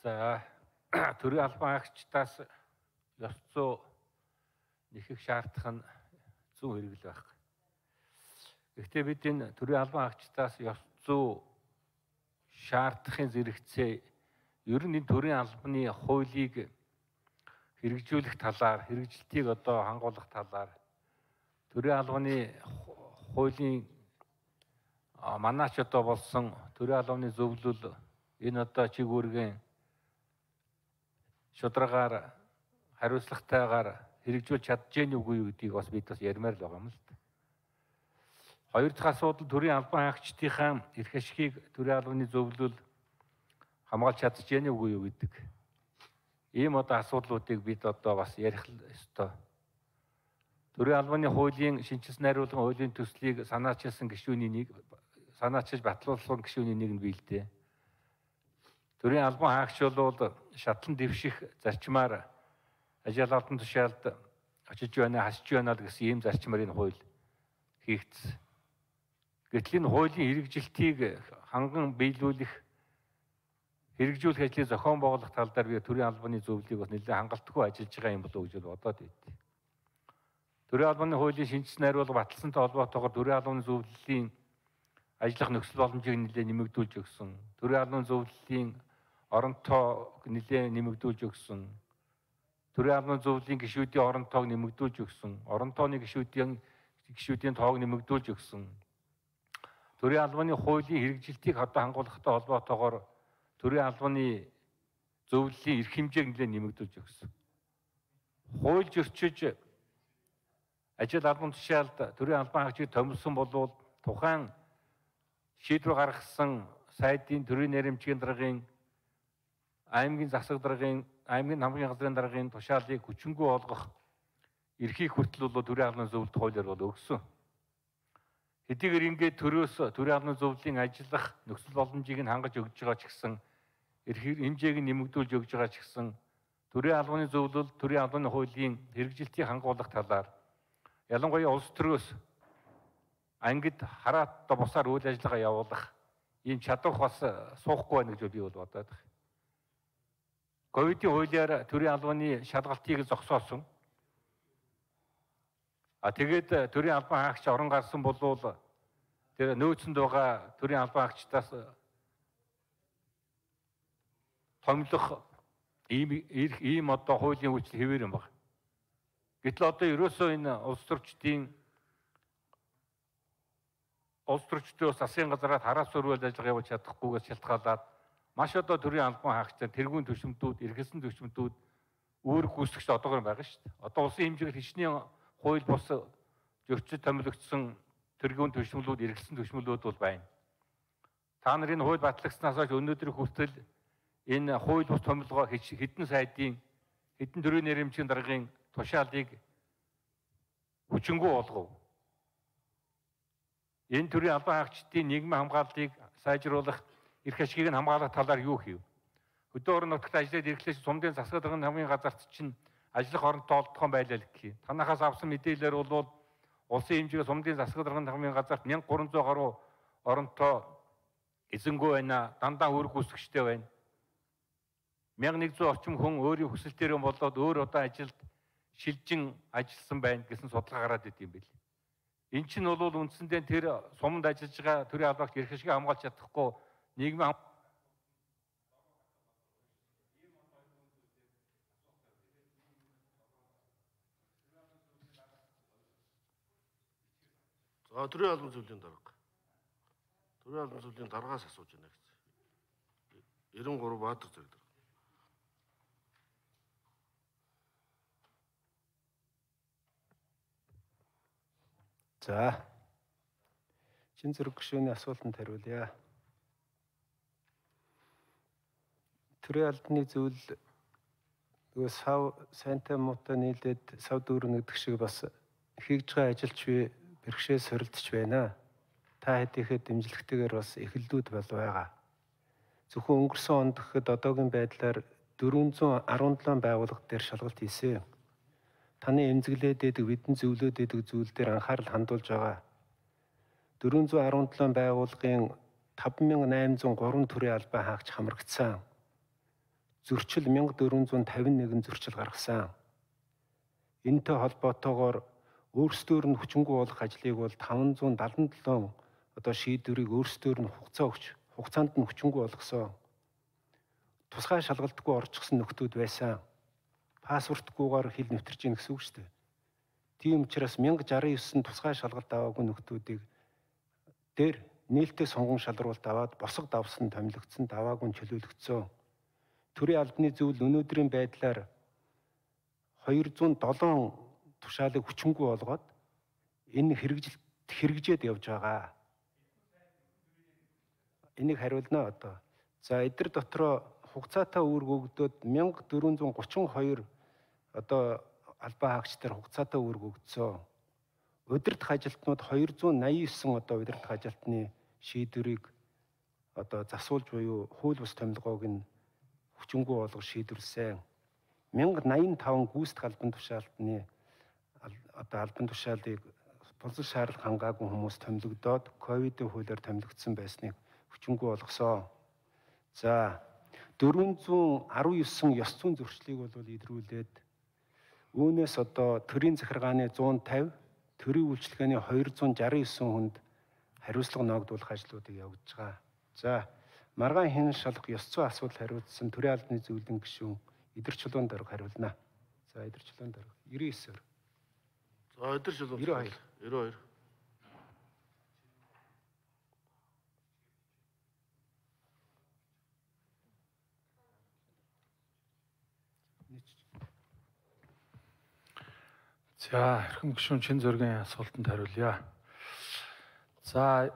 За төрийн албан хаагчдаас ёс зүй нэхэх шаардах нь зүүн хэрэгэл байх. Гэхдээ бид энэ төрийн албан хаагчдаас ёс зүй шаардахын зэрэгцээ ер нь энэ төрийн албаны хуулийг хэрэгжүүлэх талаар, хэрэгжилтийг одоо хангуулах талаар төрийн албаны хуулийн манаач одоо болсон төрийн албаны зөвлөл энэ одоо чиг үүргийн шударгаар хариуцлагатайгаар хэрэгжүүлж чадчихэв үгүй юу гэдгийг бас бид бас ярмаар л байгаа юм л да. Хоёр дахь асуудал төрийн албан хаагчдынхаа эрх ашигыг төрийн албаны зөвлөл хамгаалж чадчихэв үгүй юу гэдэг. Ийм одоо асуудлуудыг бид одоо бас ярих ёстой. Төрийн албаны хуулийн шинжилсэн найруулгын хуулийн төслийг санаачилсан гишүүний нэг санаачилж батлуулсан гишүүний нэг нь бий л дээ. Төрийн албан хаагч бол шатлан дэвших зарчмаар ажил албан тушаалд очиж байна, хасж байна л гэсэн ийм зарчмаар энэ хууль хийгдсэн. Гэтэл энэ хуулийн хэрэгжилтийг ханган биелүүлэх, хэрэгжүүлэх ажлыг зохион байгуулах тал дээр би төрийн албаны зөвлөлийг бас нэлээд хангалтгүй ажиллаж байгаа юм болов уу гэж бодоод байд. Төрийн албаны хуулийн шинжилсэн найруулга баталсантай холбоотойгоор төрийн албаны зөвлөлийн ажиллах нөхцөл боломжийг нэлээд нэмэгдүүлж өгсөн. Төрийн албаны зөвлөлийн оронтойг нэлээд нэмэгдүүлж өгсөн. Төрийн албаны зөвлөлийн гишүүдийн оронтойг нэмэгдүүлж өгсөн. Оронтойны гишүүдийн тоог нэмэгдүүлж өгсөн. Төрийн албаны хуулийн хэрэгжилтийг одоо хангуулахтай холбоотойгоор төрийн албаны зөвлөлийн эрх хэмжээг нэлээд нэмэгдүүлж өгсөн. Хууль зөрчиж ажил албан тушаалд төрийн албан хаагчийг томилсон болвол тухайн шийдвэр гаргасан сайдын төрийн нэрэмжийн даргын аймгийн засаг даргын аймгийн хамгийн газрын даргын тушаалыг хүчингүй олгох эрхийг хүртэл бол төрийн албаны зөвлөлт хуулиар бол өгсөн. Хэдийгээр ингээд төрөөс төрийн албаны зөвлөлийн ажиллах нөхцөл боломжийг нь хангаж өгж байгаа ч гэсэн эрх хэмжээг нь нэмэгдүүлж өгж байгаа ч гэсэн төрийн албаны зөвлөл төрийн албаны хуулийн хэрэгжилтийг хангуулах талаар ялангуяа улс төрөөс ангид хараат бусаар үйл ажиллагаа явуулах ийм чадвар бас суухгүй байна гэж би бол бодоод байна. Ковидын хуулиар төрийн албаны шалгалтыг зогсоосон. Тэгээд төрийн албан хаагч орон гарсан болвол тэр нөөцөнд байгаа төрийн албан хаагчдаас томилох ийм одоо хуулийн үйлчлэл хэвээр юм байна. Гэтэл одоо ерөөсөө энэ улс төрчдөөс засгийн газараар хараас өрөөл ажиллагаа явуулж чадахгүйгээс шалтгаалаад маш одоо төрийн албан хаагчдаар тэргуун түвшмтүүд, эргэлсэн түвшмтүүд үүрэг гүйцэтгэгч одоогоор байгаа шүү дээ. Одоо улсын хэмжээгээр хичнээн хууль бус зөрчил томилогдсон тэргуун түвшмлүүд, эргэлсэн түвшмлүүд бол байна. Та нар энэ хууль батлагдсанаас хойш өнөөдөр хүртэл энэ хууль бус томилгоо хэдэн сайдын, хэдэн төрийн нэрэмжийн даргын тушаалыг хүчингүй болгов. Энэ төрлийн албан хаагчдын нийгмийн хамгааллыг сайжруулах, эрх ашигыг нь хамгаалах талаар юу хийв? Хөдөө орон нутагт ажиллаад ирэхлээр сумдын засаг даргын хамгийн газарт чинь ажиллах оронтой олдхон байлаа л гэх юм. Танахаас авсан мэдээлэлээр бол улсын хэмжээгээр сумдын засаг даргын хамгийн газарт 1300 гаруй оронтой эзэнгүй байна. Дандаа үүрэг гүйцэтгэгчтэй байна. 1100 орчим хүн өөрийн хүсэлтээр болоод өөр одоо ажилд шилжин ажилласан байна гэсэн судалгаа гараад идэв юм бэл. Эн чинь бол үндсэндээ тэр суманд ажиллаж байгаа төрийн албан хаагч эрх ашиг хамгаалж чадахгүй нийгмийн төрийн албан зөвлөлийн дарга. Төрийн албан зөвлөлийн даргаас асууж байна гэсэн. 93 Баатар зэрэг дарга. За. Чин зэрэг гишүүний асуултанд хариулъя. Төрийн албаны зөвлөл нөгөө сав сайнтай муутай нийлээд сав дүүрэн гэдэг шиг бас хийж байгаа ажилч би бэрхшээл сорилдож байна. Та хэдийхэд дэмжлэгтэйгээр бас эхэллүүд бол байгаа. Зөвхөн өнгөрсөн онд гэхэд одоогийн байдлаар 417 байгууллага дээр шалгалт хийсэн. Таны эмзэглээд байдаг бидний зөвлөд байдаг зүйл дээр анхаарал хандуулж байгаа. 417 байгууллагын 5803 төрлийн албан хаагч хамрагдсан. зөрчил 1451 зөрчил гаргасан. Энэтэй холбоотойгоор өөрсдөр нь хүчингү болох ажлыг бол 577 одоо шийдвэрийг өөрсдөр нь хугацаанд нь хүчингү болгосон. Тусгай шалгалтгүй орчихсон нөхдүүд байсан. Пассвортгүйгээр хил нэвтэрч ийн гэсэн үг шүү дээ. Тийм учраас 1069 тусгай шалгалт аваагүй нөхдүүдийг дээр нээлттэй сонгон шалруулалт аваад босго давсан томилогдсон даваагүй чөлөөлөгдсөн. Төрийн албаны зөвлөл өнөөдрийн байдлаар 207 тушаалыг хүчингү болгоод энэ хэрэгжээд явж байгаа. Энийг хариулна одоо. За эдгээр дотроо хугацаатай үүрэг өгдөөд 1432 одоо албан хаагчдаар хугацаатай үүрэг өгдсөн. Удирдах ажилтнууд 289 одоо удирдах ажилтны шийдвэрийг одоо засуулж буюу хууль бус томилгоог нь хүчингү болгож шийдвэрлсэн. 1085 гүйцэтгэх албан тушаалтны одоо албан тушаалыг болцол шаардлага хангаагүй хүмүүс томилогдоод ковидын хуулиар томилогдсон байсныг хүчингү болгосон. За 419 ёс зүйн зөрчлийг бол илрүүлээд үүнээс одоо төрийн захиргааны 150, төрийн үйлчилгээний 269 хүнд хариуцлага ногдуулах ажлуудыг явуулж байгаа. За маргаан хэн шалах ёс зүйн асуудал хариуцсан төрийн албаны зөвлөлийн гишүүн Идэр Чулуун дарга хариулна. За Идэр Чулуун дарга 99-ээр. За Идэр Чулуун 92. За эрхэм гишүүн чин зөргийн асуултанд хариулъя. За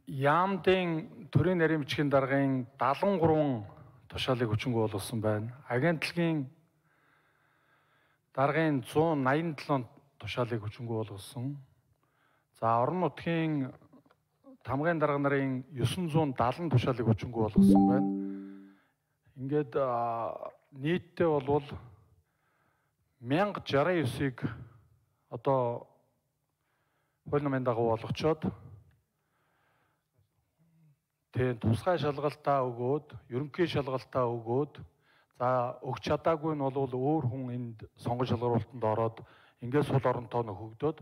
Яамдын төрийн нарийн бичгийн даргын 73 тушаалыг хүчингү болгосон байна. Агентлагийн даргын 187 тушаалыг хүчингү болгосон. За орон нутгийн тамгын дарга нарын 970 тушаалыг хүчингү болгосон байна. Ингээд нийтдээ бол 1069-ыг одоо хууль намын дагуу болгочоод тэгээд тусгай шалгалтаа өгөөд, ерөнхий шалгалтаа өгөөд, за өгч чадаагүй нь бол өөр хүн энд сонгон шалгаруулалтанд ороод ингээд сул оронтой нөхөгдөөд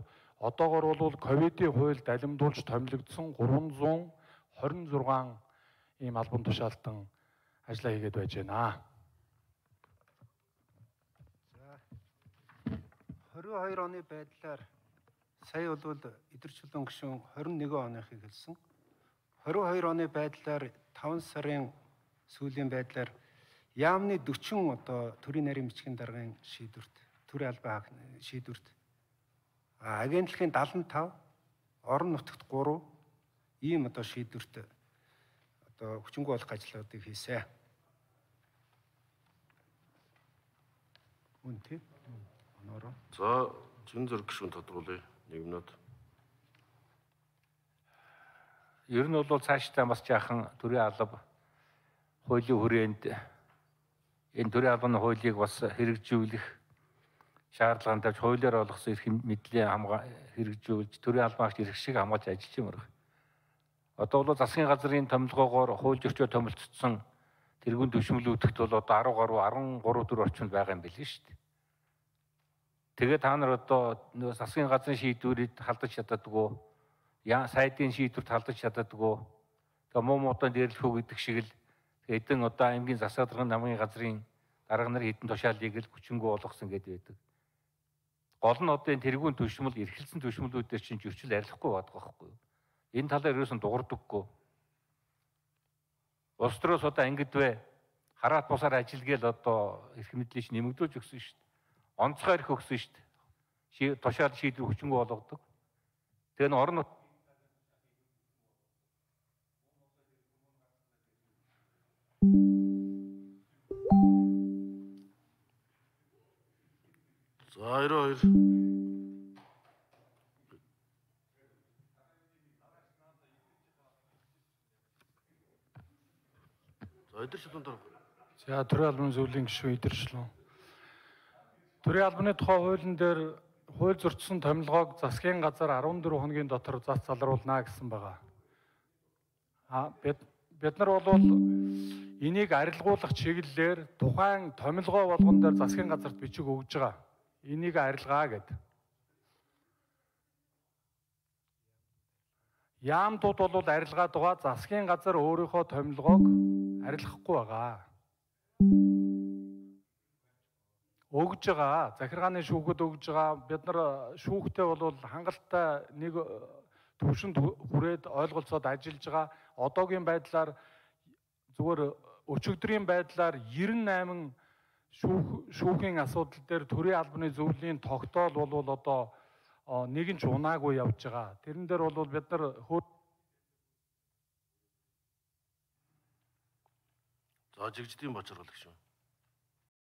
одоогор бол ковидын хуульд алимдуулж томилогдсон 326 ийм албан тушаалтан ажиллаа хийгээд байж байна. 22 оны байдлаар сая бол Идэр Чулуун гишүүн 21 оныхыг хэлсэн. 22 оны байдлаар 5 сарын сүүлийн байдлаар яамны 40 одоо төрийн нарийн бичгийн даргын шийдвэрт, төрийн албан шийдвэрт агентлагийн 75, орон нутагт 3 ийм одоо шийдвэрт одоо хүчингү болох ажлуудыг хийсэн. Үн тийм. За чин зөрг гишүүн тодруулъя. 1 минут. Ер нь бол цаашдаа бас жаахан төрийн алба хуулийн хүрээнд энэ төрийн албаны хуулийг бас хэрэгжүүлэх шаардлагатай тавьж хуулиар олгосон эрх мэдлийн хэрэгжүүлж төрийн албаагч эрх шиг хамгаалж ажиллаж юм байна. Одоо бол засгийн газрын томилгоогоор хууль зөрчил томилцсон тэргуун төвшмөлүүдэгт бол одоо 10 гаруй 13 орчимд байгаа юм билээ шүү дээ. Тэгээ та нар одоо засгийн газрын шийдвэрийг халдаж чаддаггүй, сайдын шийдвэрт халдаж чаддаггүй, тэгээ муу муудан дээрлэх үү гэдэг шиг л эдэн одоо аймгийн засаг даргын намын газрын дарга нар хэдэн тушаалыг л хүчингү болгосон гэдэг байдаг. Гол нь одоо энэ тэргуун төвшмөл, эрхэлсэн төвшмөлүүдээр чинь зөрчил арилахгүй байдаг байхгүй юу? Энэ талаар ерөөсөн дуурдаггүй. Улс төрөөс одоо ангидвэ хараат бусаар ажилгээл одоо эрх мэдлийг нэмэгдүүлж өгсөн шүү дээ. Онцгой эрх өгсөн шүү дээ. Тушаал шийдвэр хүчингү болгодог. Тэгээ н орон нут За 92. За Идэр Чулуун дарга. За төрийн албаны зөвлөлийн гишүүн Идэр Чулуун. Төрийн албаны тухай хуулийн дээр хууль зөрчсөн томилгоог засгийн газар 14 хоногийн дотор зас залруулна гэсэн байгаа. Бид нар бол энийг арилгуулах чиглэлээр тухайн томилгоо болгон дээр засгийн газарт бичиг өгж байгаа. Энийг арилгаа гэдэг. Яамдууд бол арилгаад байгаа, засгийн газар өөрийнхөө томилгоог арилгахгүй байгаа. Өгж байгаа. Захиргааны шүүхэд өгж байгаа. Бид нар шүүхтэй бол хангалттай нэг төвшөнд хүрээд ойлголцоод ажиллаж байгаа. Одоогийн байдлаар зүгээр өчигдрийн байдлаар 98 шүүхийн асуудал дээр төрийн албаны зөвлөлийн тогтоол бол одоо нэг нь ч унаагүй явж байгаа. Тэрэн дээр бол бид нар За жигждийн бочрол гэх юм.